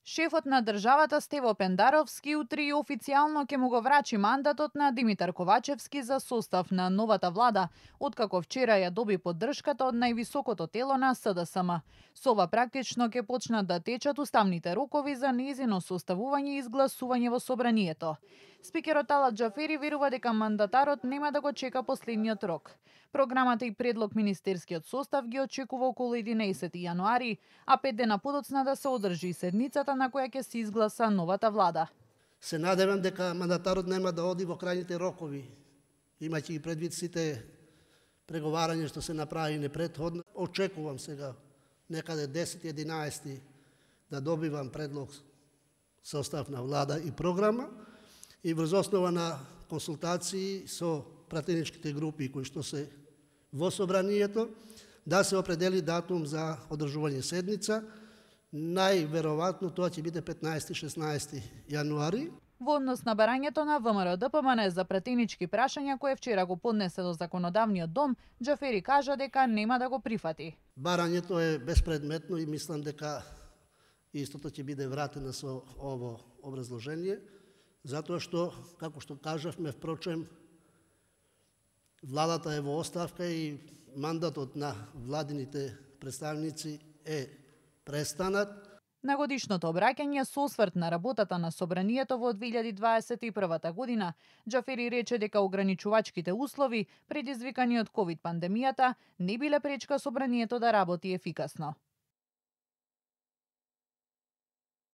Шефот на државата Стево Пендаровски утре и официјално ќе му го врачи мандатот на Димитар Ковачевски за состав на новата влада, откако вчера ја доби поддршката од највисокото тело на СДСМ. Со ова практично ќе почнат да течат уставните рокови за нејзино составување и изгласување во собранието. Спикерот Талат Џафери верува дека мандатарот нема да го чека последниот рок. Програмата и предлог министерскиот состав ги очекува околу 11 јануари, а 5 дена подоцна да се одржи седницата на која ќе се изгласа новата влада. Се надевам дека мандатарот нема да оди во крајните рокови, имајќи и предвид сите преговарања што се направи непретходно. Очекувам сега некаде 10-11 да добивам предлог состав на влада и програма и врз основа на консултации со пратеничките групи кои што се во собранието да се определи датум за одржување седница. Најверојатно тоа ќе биде 15-16 јануари. Во однос на барањето на ВМРО-ДПМН за пратенички прашања кое вчера го поднесе до законодавниот дом, Џафери кажа дека нема да го прифати. Барањето е безпредметно и мислам дека истото ќе биде вратено со ово образложение, затоа што, како што кажавме, впрочем, владата е во оставка и мандатот на владините представници е престанат. На годишното обраќање со осврт на работата на собранието во 2021 година, Џафери рече дека ограничувачките услови, предизвикани од ковид пандемијата, не биле пречка собранието да работи ефикасно.